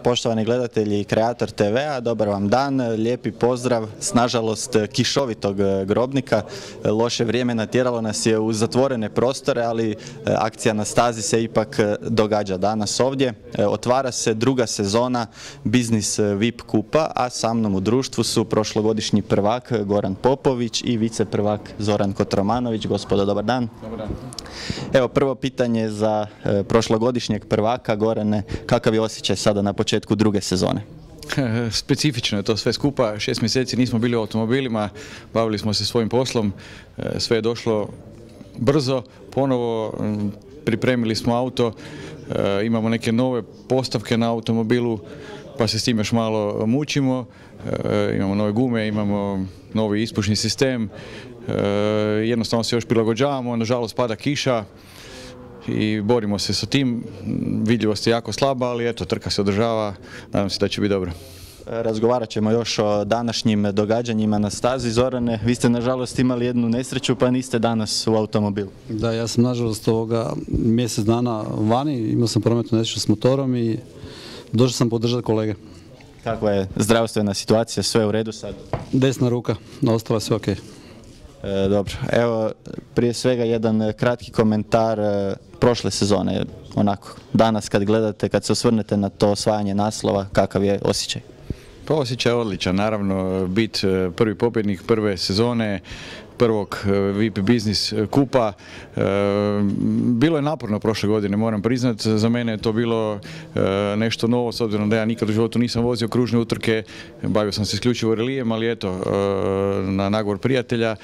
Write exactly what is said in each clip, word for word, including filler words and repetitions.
Poštovani gledatelji i kreator te vea, dobar vam dan, lijepi pozdrav s nažalost kišovitog Grobnika. Loše vrijeme natjeralo nas je u zatvorene prostore, ali akcija na stazi se ipak događa danas ovdje. Otvara se druga sezona Biznis V I P kupa, a sa mnom u društvu su prošlogodišnji prvak Goran Popović i vice prvak Zoran Kotromanović. Gospodo, dobar dan. Dobar dan. Evo, prvo pitanje za e, prošlogodišnjeg prvaka. Gorane, kakav je osjećaj sada na početku druge sezone? Specifično je to sve skupa, šest mjeseci nismo bili u automobilima, bavili smo se svojim poslom, sve je došlo brzo, ponovo pripremili smo auto, imamo neke nove postavke na automobilu, pa se s tim još malo mučimo, imamo nove gume, imamo novi ispušni sistem, jednostavno se još prilagođavamo, nažalost pada kiša i borimo se sa tim, vidljivost je jako slaba, ali eto, trka se održava, nadam se da će biti dobro. Razgovarat ćemo još o današnjim događanjima na stazi. Zorane, vi ste nažalost imali jednu nesreću pa niste danas u automobilu. Da, ja sam nažalost ovoga mjesec dana vani, imao sam prometnu nesreću s motorom i došao sam podržati kolege. Kakva je zdravstvena situacija, sve u redu sad? Desna ruka, ostalo je sve ok. E, dobro, evo prije svega jedan kratki komentar e, prošle sezone, onako danas kad gledate, kad se osvrnete na to osvajanje naslova, kakav je osjećaj? Pa osjećaj je odličan, naravno bit prvi pobjednik prve sezone, prvog V I P biznis kupa. Bilo je naporno prošle godine, moram priznati, za mene je to bilo nešto novo, s obzirom da ja nikad u životu nisam vozio kružne utrke, bavio sam se isključivo relijem, ali eto, na nagovor prijatelja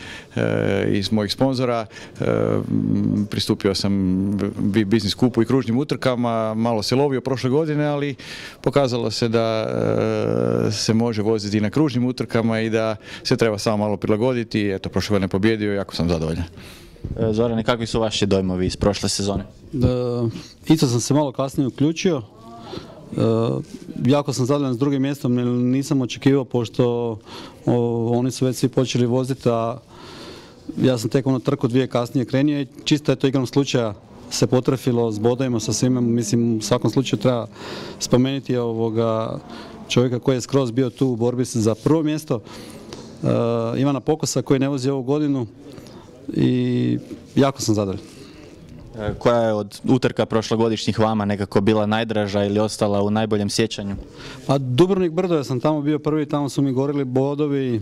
i mojih sponzora pristupio sam V I P biznis kupu i kružnim utrkama, malo se lovio prošle godine, ali pokazalo se da se može voziti i na kružnim utrkama i da se treba samo malo prilagoditi. Eto, prošle godine pobjedio i jako sam zadovoljan. Zorane, kakvi su vaši dojmovi iz prošle sezone? Da, isto sam se malo kasnije uključio. E, jako sam zadovoljan s drugim mjestom, jer nisam očekivao, pošto o, oni su već svi počeli voziti, a ja sam tek ono trku dvije kasnije krenio i čisto je to igrom slučaja se potrefilo s bodovima sa svima. Mislim, u svakom slučaju treba spomenuti ovoga čovjeka koji je skroz bio tu u borbi za prvo mjesto. Uh, Ivana Pokosa koji ne vozi ovu godinu i jako sam zadovoljan. E, koja je od utrka prošlogodišnjih vama nekako bila najdraža ili ostala u najboljem sjećanju? Pa Dubrovnik Brdo, ja sam tamo bio prvi, tamo su mi gorili bodovi,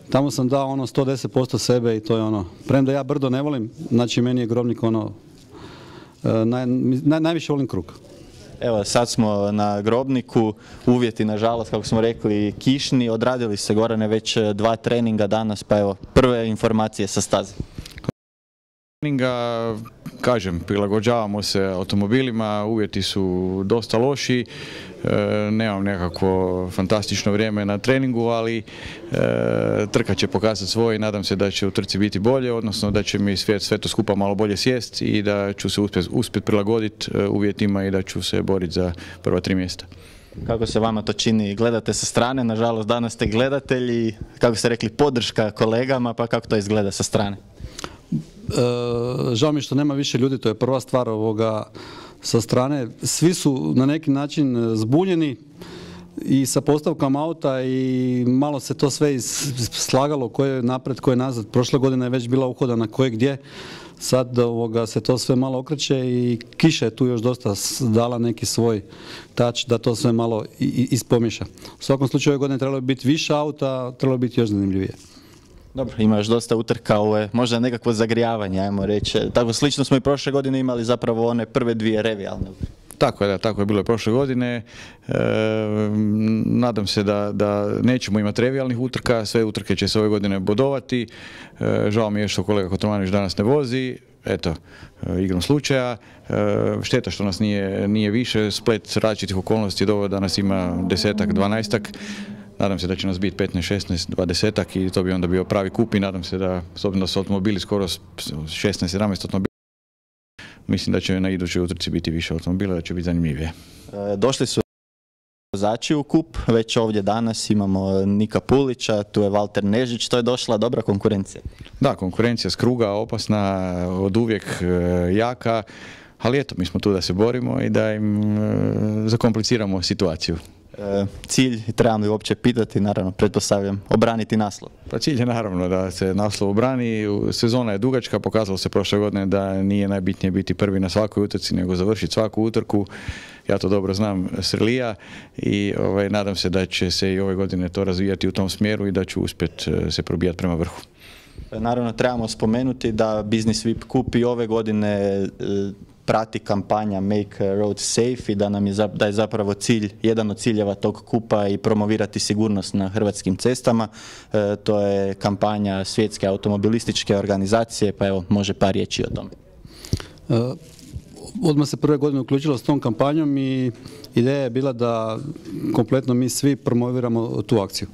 tamo sam dao ono sto deset posto sebe i to je ono, premda ja Brdo ne volim, znači meni je Grobnik ono, uh, naj, naj, najviše volim krug. Evo, sad smo na Grobniku, uvjeti nažalost, kako smo rekli, kišni, odradili se, Gorane, već dva treninga danas, pa evo, prve informacije sa staze. Treninga, kažem, prilagođavamo se automobilima, uvjeti su dosta loši, e, nemam nekako fantastično vrijeme na treningu, ali e, trka će pokazati svoje i nadam se da će u trci biti bolje, odnosno da će mi sve, sve to skupa malo bolje sjest i da ću se uspjeti uspjet prilagoditi uvjetima i da ću se boriti za prva tri mjesta. Kako se vama to čini? Gledate sa strane, nažalost danas ste gledatelji, kako ste rekli, podrška kolegama, pa kako to izgleda sa strane? E, žao mi što nema više ljudi, to je prva stvar ovoga sa strane. Svi su na neki način zbunjeni i sa postavkama auta i malo se to sve slagalo ko je napred, ko je nazad. Prošle godine je već bila uhodana ko je gdje. Sad ovoga, se to sve malo okreće i kiša je tu još dosta dala neki svoj touch da to sve malo ispomiješa. U svakom slučaju ove godine trebalo biti više auta, trebalo biti još zanimljivije. Dobro, ima još dosta utrka, ovo je možda nekakvo zagrijavanje, ajmo reći. Tako slično smo i prošle godine imali zapravo one prve dvije revijalne utrke. Tako je, da, tako je bilo i prošle godine. E, nadam se da, da nećemo imati revijalnih utrka, sve utrke će se ove godine bodovati. E, žao mi je što kolega Kotromanović danas ne vozi, eto, e, igrom slučaja. E, šteta što nas nije, nije više, splet različitih okolnosti do da nas ima desetak, dvanaestak. Nadam se da će nas biti petnaest, šesnaest, dvadesetak i to bi onda bio pravi kup i nadam se da, s obzirom da su automobili skoro šesnaest, sedamnaest automobila, mislim da će na idućoj utrci biti više automobila, da će biti zanimljivije. E, došli su vozači u kup, već ovdje danas imamo Nika Pulića, tu je Valter Nežić, to je došla dobra konkurencija. Da, konkurencija s kruga, opasna, od uvijek jaka. ali eto, mi smo tu da se borimo i da im e, zakompliciramo situaciju. E, cilj, trebam li uopće pitati, naravno, pretpostavljam, obraniti naslov. Pa cilj je naravno da se naslov obrani, sezona je dugačka, pokazalo se prošle godine da nije najbitnije biti prvi na svakoj utrci, nego završiti svaku utrku. Ja to dobro znam s relija i ovaj, nadam se da će se i ove godine to razvijati u tom smjeru i da ću uspjeti se probijati prema vrhu. Naravno, trebamo spomenuti da Business V I P Cup i ove godine e, prati kampanja Make Road Safe i da nam je, da je zapravo cilj, jedan od ciljeva tog kupa i promovirati sigurnost na hrvatskim cestama. E, to je kampanja Svjetske automobilističke organizacije, pa evo, može par riječi o tome. E, odmah se prve godine uključilo s tom kampanjom i ideja je bila da kompletno mi svi promoviramo tu akciju.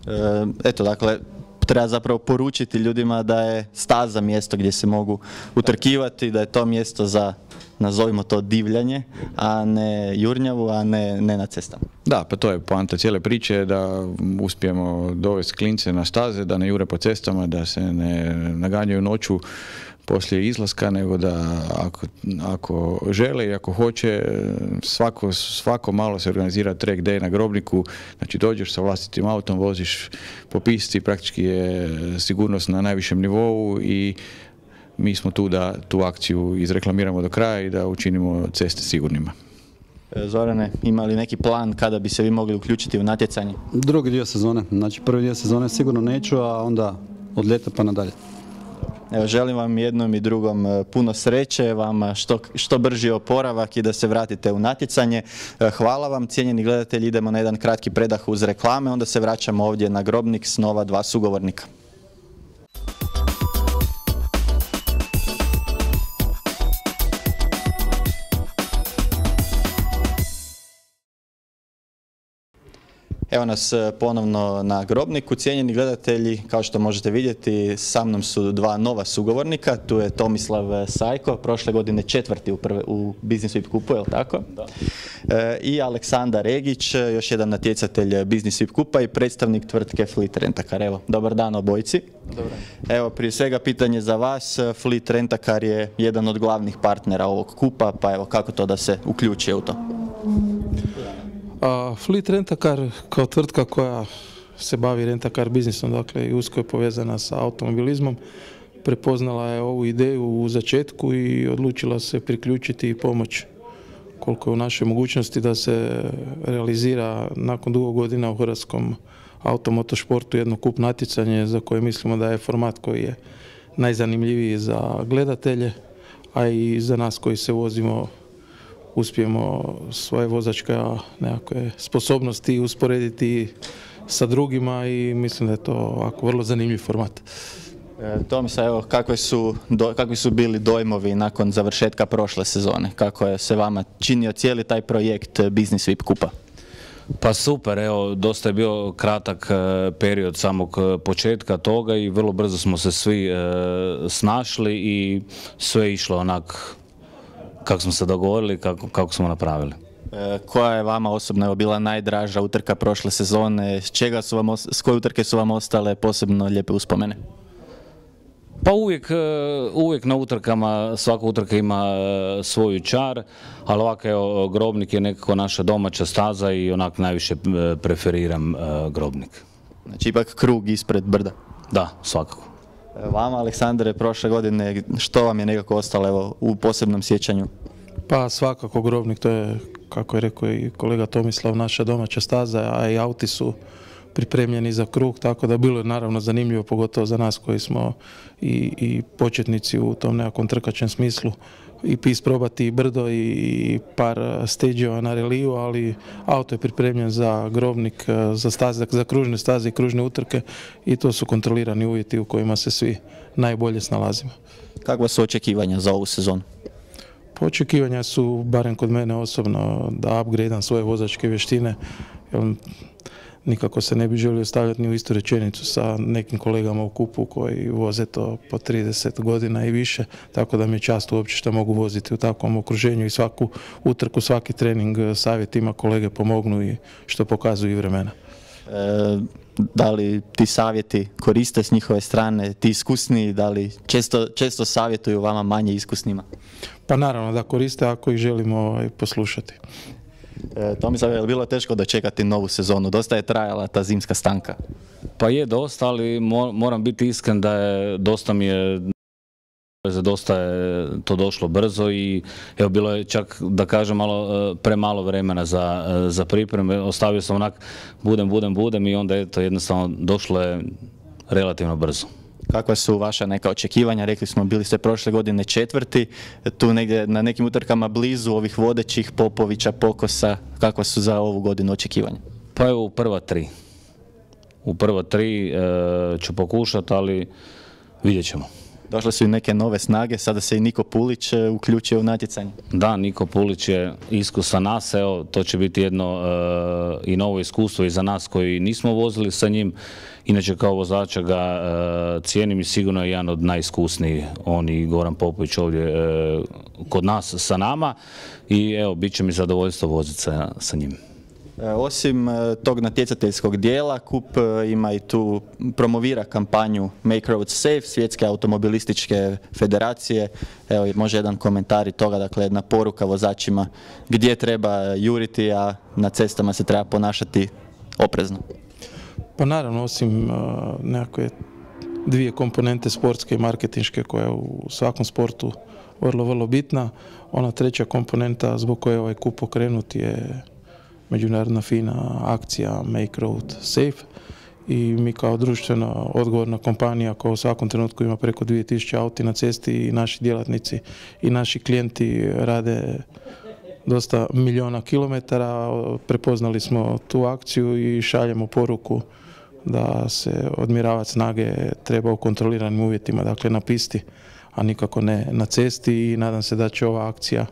E, eto, dakle, treba zapravo poručiti ljudima da je staza mjesto gdje se mogu utrkivati, da je to mjesto za, nazovimo to, divljanje, a ne jurnjavu, a ne, ne na cestama. Da, pa to je poanta cijele priče, da uspijemo dovesti klince na staze, da ne jure po cestama, da se ne naganjaju noću poslije izlaska, nego da ako, ako žele i ako hoće, svako, svako malo se organizira track day na Grobniku, znači dođeš sa vlastitim autom, voziš po pisti, praktički je sigurnost na najvišem nivou i mi smo tu da tu akciju izreklamiramo do kraja i da učinimo ceste sigurnima. Zorane, ima li neki plan kada bi se vi mogli uključiti u natjecanje? Drugi dio sezone, znači prvi dio sezone sigurno neću, a onda od ljeta pa nadalje. Evo, želim vam jednom i drugom puno sreće, vam što, što brži oporavak i da se vratite u natjecanje. Hvala vam, cijenjeni gledatelji, idemo na jedan kratki predah uz reklame, onda se vraćamo ovdje na Grobnik s nova dva sugovornika. Evo nas ponovno na Grobniku. Cijenjeni gledatelji, kao što možete vidjeti, sa mnom su dva nova sugovornika. Tu je Tomislav Sajko, prošle godine četvrti u, prve, u Business V I P Cupu, je li tako? Da. E, I Aleksandar Egić, još jedan natjecatelj Business V I P Cupa i predstavnik tvrtke Fleet Rent-A-Car. Evo, dobar dan obojici. Dobar. Evo, prije svega pitanje za vas. Fleet Rent-A-Car je jedan od glavnih partnera ovog kupa, pa evo, kako to da se uključi u to? A Fleet Rent-A-Car kao tvrtka koja se bavi rent-a-car biznisom, dakle i usko je povezana sa automobilizmom, prepoznala je ovu ideju u začetku i odlučila se priključiti i pomoć koliko je u našoj mogućnosti da se realizira nakon dugo godina u hrvatskom automotošportu jedno kup natjecanje za koje mislimo da je format koji je najzanimljiviji za gledatelje, a i za nas koji se vozimo uspijemo svoje vozačke nekakve sposobnosti usporediti sa drugima i mislim da je to ovako vrlo zanimljiv format. E, Tomislav, evo, kakve su, do, kakvi su bili dojmovi nakon završetka prošle sezone? Kako je se vama činio cijeli taj projekt Business V I P Cupa? Pa super, evo, dosta je bio kratak period samog početka toga i vrlo brzo smo se svi e, snašli i sve je išlo onak kako smo se dogovorili, kako, kako smo napravili. E, koja je vama osobno evo, bila najdraža utrka prošle sezone? S čega su vam, s koje utrke su vam ostale posebno lijepe uspomene? Pa uvijek, uvijek na utrkama, svaka utrka ima svoju čar, ali ovako evo, Grobnik je nekako naša domaća staza i onak najviše preferiram Grobnik. Znači ipak krug ispred brda? Da, svakako. Vama, Aleksandre, prošle godine, što vam je nekako ostalo evo, u posebnom sjećanju? Pa svakako Grobnik, to je, kako je rekao i kolega Tomislav, naša domaća staza, a i auti su pripremljeni za krug, tako da bilo je naravno zanimljivo, pogotovo za nas koji smo i, i početnici u tom nekakvom trkačem smislu, i isprobati i brdo i par stageova na reliju, ali auto je pripremljen za Grobnik, za staze, za kružne staze i kružne utrke i to su kontrolirani uvjeti u kojima se svi najbolje snalazimo. Kakva su očekivanja za ovu sezonu? Očekivanja su, barem kod mene osobno, da upgradeam svoje vozačke vještine, jer nikako se ne bi želio stavljati ni u istu rečenicu sa nekim kolegama u kupu koji voze to po trideset godina i više, tako da mi je čast uopće što mogu voziti u takvom okruženju i svaku utrku, svaki trening savjetima kolege pomognu i što pokazuju i vremena. Da li ti savjeti koriste s njihove strane, ti iskusniji, da li često, često savjetuju vama manje iskusnima? Pa naravno da koriste ako ih želimo ovaj, poslušati. E, Tomislav, je li bilo teško dočekati novu sezonu? Dosta je trajala ta zimska stanka. Pa je dosta, ali moram biti iskren da je dosta mi je dosta je to došlo brzo i evo bilo je čak da kažem malo premalo vremena za, za pripreme. Ostavio sam onak budem, budem, budem i onda je to jednostavno došlo je relativno brzo. Kakva su vaša neka očekivanja? Rekli smo, bili ste prošle godine četvrti, tu negdje na nekim utrkama blizu ovih vodećih Popovića, Pokosa. Kakva su za ovu godinu očekivanja? Pa evo u prva tri. U prva tri e, ću pokušati, ali vidjet ćemo. Došle su i neke nove snage, sada se i Niko Pulić uključio u natjecanje. Da, Niko Pulić je iskusan nas, evo, to će biti jedno e, i novo iskustvo i za nas koji nismo vozili sa njim. Inače kao vozača ga e, cijenim i sigurno je jedan od najiskusnijih, on i Goran Popović ovdje e, kod nas sa nama i evo, bit će mi zadovoljstvo voziti sa, sa njim. Osim tog natjecateljskog dijela, Kup ima i tu, promovira kampanju Make Roads Safe, Svjetske automobilističke federacije. Evo, može jedan komentar i toga, dakle jedna poruka vozačima gdje treba juriti, a na cestama se treba ponašati oprezno. Pa naravno, osim uh, nekakve dvije komponente sportske i marketinške koja je u svakom sportu vrlo, vrlo bitna, ona treća komponenta zbog koje je ovaj kup pokrenut je međunarodna fina akcija Make Road Safe i mi kao društveno odgovorna kompanija koja u svakom trenutku ima preko dvije tisuće auti na cesti i naši djelatnici i naši klijenti rade dosta milijuna kilometara, prepoznali smo tu akciju i šaljemo poruku da se odmjeravati snage treba u kontroliranim uvjetima, dakle na pisti, a nikako ne na cesti i nadam se da će ova akcija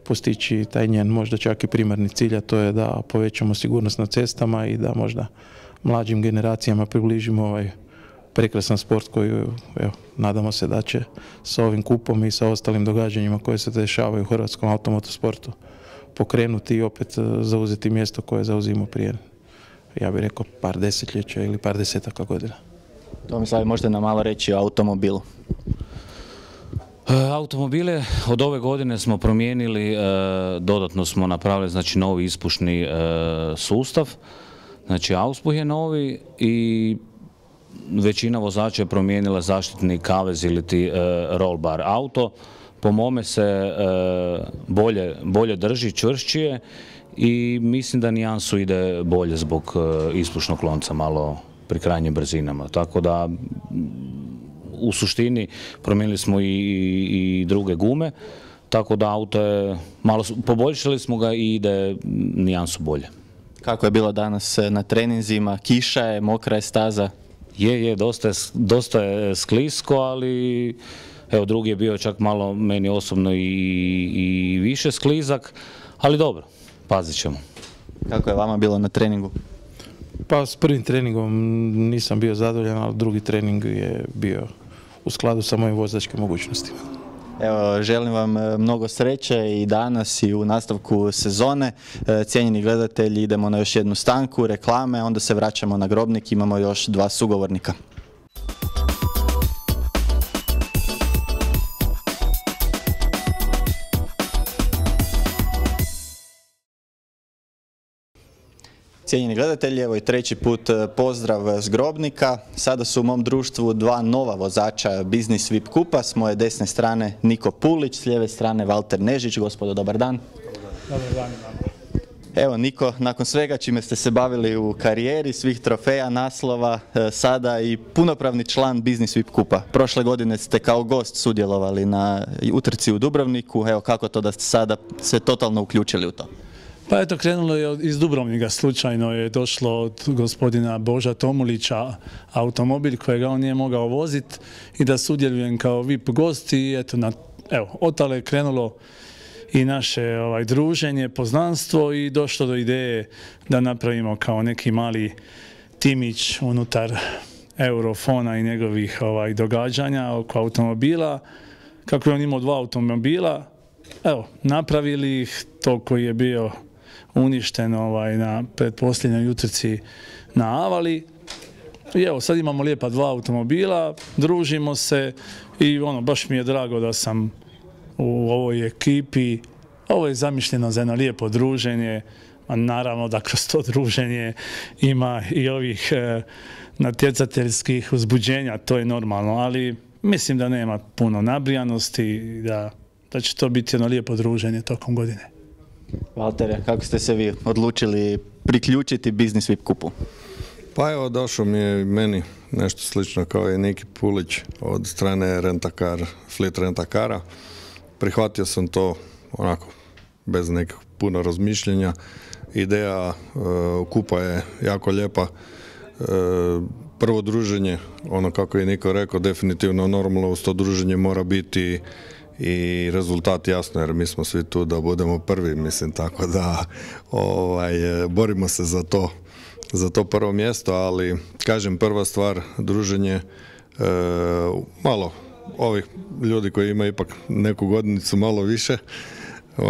postići taj njen možda čak i primarni cilj, a to je da povećamo sigurnost na cestama i da možda mlađim generacijama približimo ovaj prekrasan sport koji, evo, nadamo se da će sa ovim kupom i sa ostalim događanjima koje se dešavaju u hrvatskom automotosportu pokrenuti i opet zauzeti mjesto koje zauzimo prije, ja bih rekao, par desetljeća ili par desetaka godina. Tomislav, možete nam malo reći o automobilu? Automobile od ove godine smo promijenili, dodatno smo napravili znači novi ispušni sustav, znači auspuh je novi i većina vozača je promijenila zaštitni kavez ili ti roll bar. Auto po mome se bolje, bolje drži, čvršćije i mislim da nijansu ide bolje zbog ispušnog lonca malo pri krajnjim brzinama, tako da u suštini promijenili smo i, i, i druge gume, tako da auto je, malo poboljšali smo ga i ide nijansu bolje. Kako je bilo danas na treninzima? Kiša je, mokra je staza? Je, je, dosta je, dosta je sklisko, ali evo drugi je bio čak malo meni osobno i, i više sklizak, ali dobro, pazit ćemo. Kako je vama bilo na treningu? Pa s prvim treningom nisam bio zadovoljan, ali drugi trening je bio u skladu sa mojim vozačkim mogućnostima. Evo, želim vam mnogo sreće i danas i u nastavku sezone. Cijenjeni gledatelji, idemo na još jednu stanku, reklame, onda se vraćamo na Grobnik, imamo još dva sugovornika. Cijenjeni gledatelji, evo i treći put pozdrav s Grobnika. Sada su u mom društvu dva nova vozača Biznis V I P Kupa. S moje desne strane Niko Pulić, s lijeve strane Valter Nežić. Gospodo, dobar dan. Dobar dan. Evo Niko, nakon svega čime ste se bavili u karijeri, svih trofeja, naslova, sada i punopravni član Biznis V I P Kupa. Prošle godine ste kao gost sudjelovali na utrci u Dubrovniku. Evo kako to da ste sada se totalno uključili u to? Pa eto, krenulo je iz Dubrovnika, slučajno je došlo od gospodina Boža Tomulića automobil kojega on nije mogao voziti i da sudjelujem kao V I P gost i eto, na, evo, od tada je krenulo i naše ovaj, druženje, poznanstvo i došlo do ideje da napravimo kao neki mali timić unutar Eurofona i njegovih ovaj, događanja oko automobila. Kako je on imao dva automobila, evo, napravili ih, to koji je bio uništen ovaj, na pretposljednjoj utrci na Avali. I evo, sad imamo lijepa dva automobila, družimo se i ono, baš mi je drago da sam u ovoj ekipi. Ovo je zamišljeno za jedno lijepo druženje, a naravno da kroz to druženje ima i ovih e, natjecateljskih uzbuđenja, to je normalno, ali mislim da nema puno nabrijanosti i da, da će to biti jedno lijepo druženje tokom godine. Valtere, kako ste se vi odlučili priključiti Biznis V I P kupu? Pa evo, došao mi je meni nešto slično kao i Niki Pulić od strane Rentakar, Fleet Rentakara. Prihvatio sam to onako bez nekog puno razmišljenja. Ideja uh, kupa je jako lijepa. Uh, prvo druženje, ono kako je Niko rekao, definitivno normalno uz to druženje mora biti i rezultat, jasno, jer mi smo svi tu da budemo prvi, mislim, tako da ovaj, borimo se za to, za to prvo mjesto, ali kažem, prva stvar, druženje, e, malo ovih ljudi koji imaju ipak neku godinicu malo više,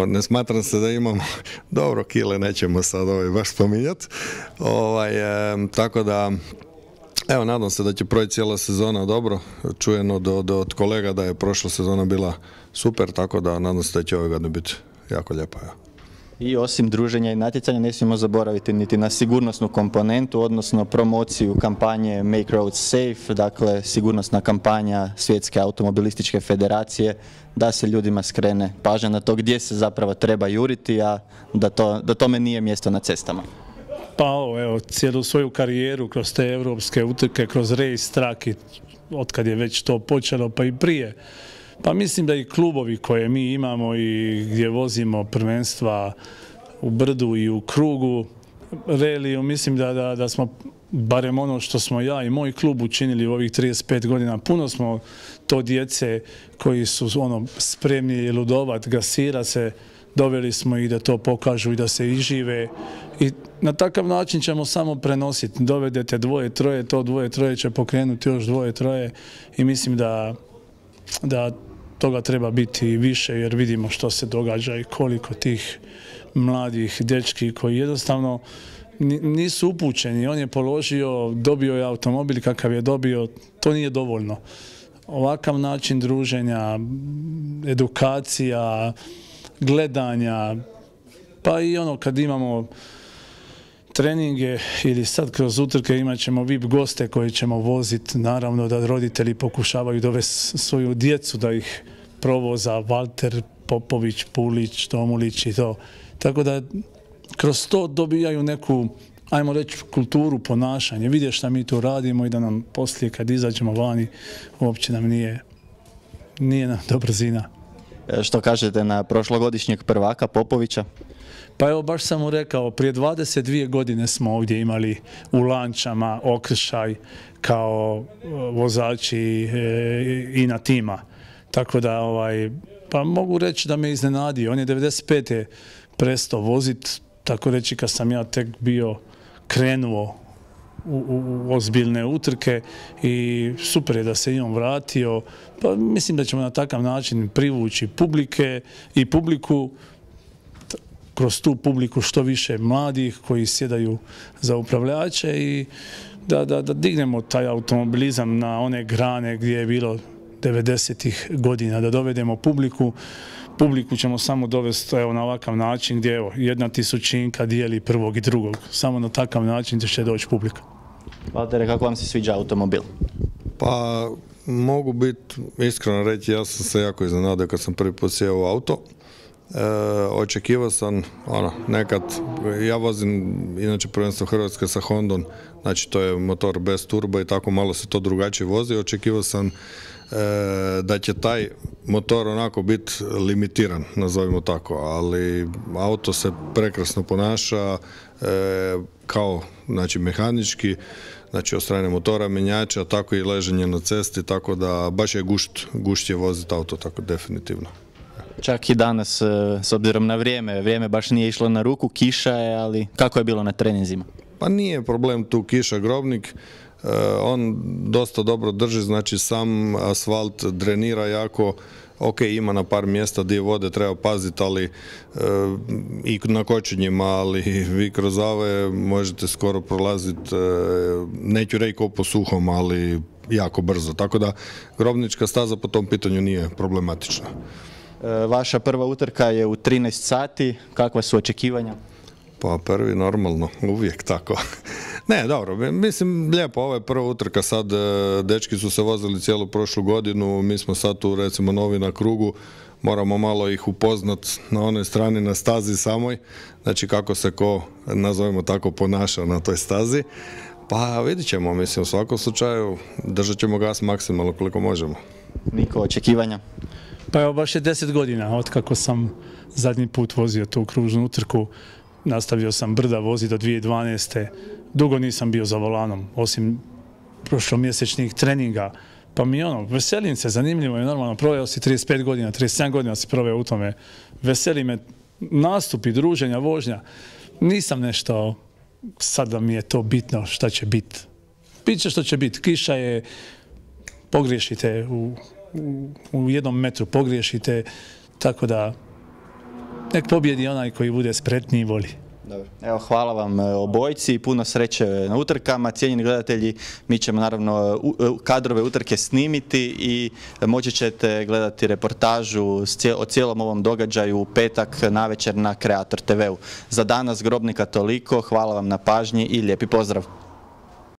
ne smatram se da imamo dobro kile, nećemo sad ovaj baš spominjati, ovaj, e, tako da evo, nadam se da će proći cijela sezona dobro. Čujem od, od, od kolega da je prošla sezona bila super, tako da nadam se da će ove godine biti jako lijepa. Ja. I osim druženja i natjecanja ne smijemo zaboraviti niti na sigurnosnu komponentu, odnosno promociju kampanje Make Roads Safe, dakle sigurnosna kampanja Svjetske automobilističke federacije, da se ljudima skrene pažnja na to gdje se zapravo treba juriti, a da, to, da tome nije mjesto na cestama. Pa ovo, evo, cijelu svoju karijeru kroz te europske utrke, kroz race track, otkad je već to počelo, pa i prije. Pa mislim da i klubovi koje mi imamo i gdje vozimo prvenstva u brdu i u krugu, reliju, mislim da, da, da smo, barem ono što smo ja i moj klub učinili u ovih trideset pet godina, puno smo to djece koji su ono spremni ludovat, gasira se, doveli smo ih da to pokažu i da se ižive i na takav način ćemo samo prenositi. Dovedete dvoje, troje, to dvoje, troje će pokrenuti još dvoje, troje i mislim da, da toga treba biti više jer vidimo što se događa i koliko tih mladih dečki koji jednostavno nisu upućeni. On je položio, dobio je automobil kakav je dobio, to nije dovoljno. Ovakav način druženja, edukacija, gledanja, pa i ono kad imamo treninge ili sad kroz utrke imat ćemo V I P goste koji ćemo voziti, naravno da roditelji pokušavaju dovesti svoju djecu da ih provoza, Valter, Popović, Pulić, Tomulić i to. Tako da kroz to dobijaju neku, ajmo reći, kulturu ponašanja, vidje šta mi tu radimo i da nam poslije kad izađemo vani uopće nam nije, nije nam do brzina. Što kažete na prošlogodišnjeg prvaka Popovića? Pa evo, baš sam mu rekao, prije dvadeset dvije godine smo ovdje imali u Lančama okršaj kao vozači i na tima. Tako da, ovaj, pa mogu reći da me iznenadio. On je devedeset pete prestao voziti, tako reći kad sam ja tek bio krenuo u, u, u ozbiljne utrke i super je da se i on vratio. Pa mislim da ćemo na takav način privući publike i publiku, kroz tu publiku što više mladih koji sjedaju za upravljače i da, da, da dignemo taj automobilizam na one grane gdje je bilo devedesetih godina, da dovedemo publiku. Publiku ćemo samo dovesti evo, na ovakav način gdje evo, jedna tisućinka dijeli prvog i drugog. Samo na takav način će doći publika. Valtere, kako vam se sviđa automobil? Pa mogu biti iskreno reći, ja sam se jako iznenadio kad sam prvi put sjeo u auto. E, očekivao sam, ono, nekad, ja vozim inače prvenstvo Hrvatske sa Hondom, znači to je motor bez turbo i tako malo se to drugačije vozi. Očekivao sam e, da će taj motor onako biti limitiran, nazovimo tako, ali auto se prekrasno ponaša e, kao, znači, mehanički, znači od strane motora, menjača, tako i leženje na cesti, tako da baš je gušt, gušt je voziti auto, tako definitivno. Čak i danas, s obzirom na vrijeme, vrijeme baš nije išlo na ruku, kiša je, ali kako je bilo na treninzima? Pa nije problem tu kiša, Grobnik, on dosta dobro drži, znači sam asfalt drenira jako, ok, ima na par mjesta gdje vode treba paziti, ali e, i na kočenjima, ali vi kroz ave možete skoro prolaziti, e, neću reći ko po suhom, ali jako brzo. Tako da Grobnička staza po tom pitanju nije problematična. E, vaša prva utrka je u trinaest sati, kakva su očekivanja? Pa prvi normalno, uvijek tako. Ne, dobro, mislim lijepo, ovo je prva utrka sad, dečki su se vozili cijelu prošlu godinu, mi smo sad tu recimo novi na krugu, moramo malo ih upoznat na onoj strani na stazi samoj, znači kako se ko, nazovimo tako, ponaša na toj stazi. Pa vidit ćemo, mislim, u svakom slučaju držat ćemo gas maksimalno koliko možemo. Niko, očekivanja? Pa evo, baš je deset godina od kako sam zadnji put vozio tu kružnu utrku. Nastavio sam brda vozi do dvije tisuće dvanaeste. Dugo nisam bio za volanom, osim prošlomjesečnih treninga. Pa mi ono, veselim se, zanimljivo je, normalno, proveo si trideset pet godina, trideset sedam godina si proveo u tome. Veseli me nastupi, druženja, vožnja. Nisam nešto, sad da mi je to bitno šta će biti. Biće što će biti. Kiša je, pogriješite u, u, u jednom metru, pogriješite, tako da nek pobjedi onaj koji bude spretniji i voli. Dobro. Evo, hvala vam obojci i puno sreće na utrkama. Cijenjeni gledatelji, mi ćemo naravno kadrove utrke snimiti i moći ćete gledati reportažu o cijelom ovom događaju u petak navečer na Kreator te veu. Za danas Grobnika toliko, hvala vam na pažnji i lijepi pozdrav.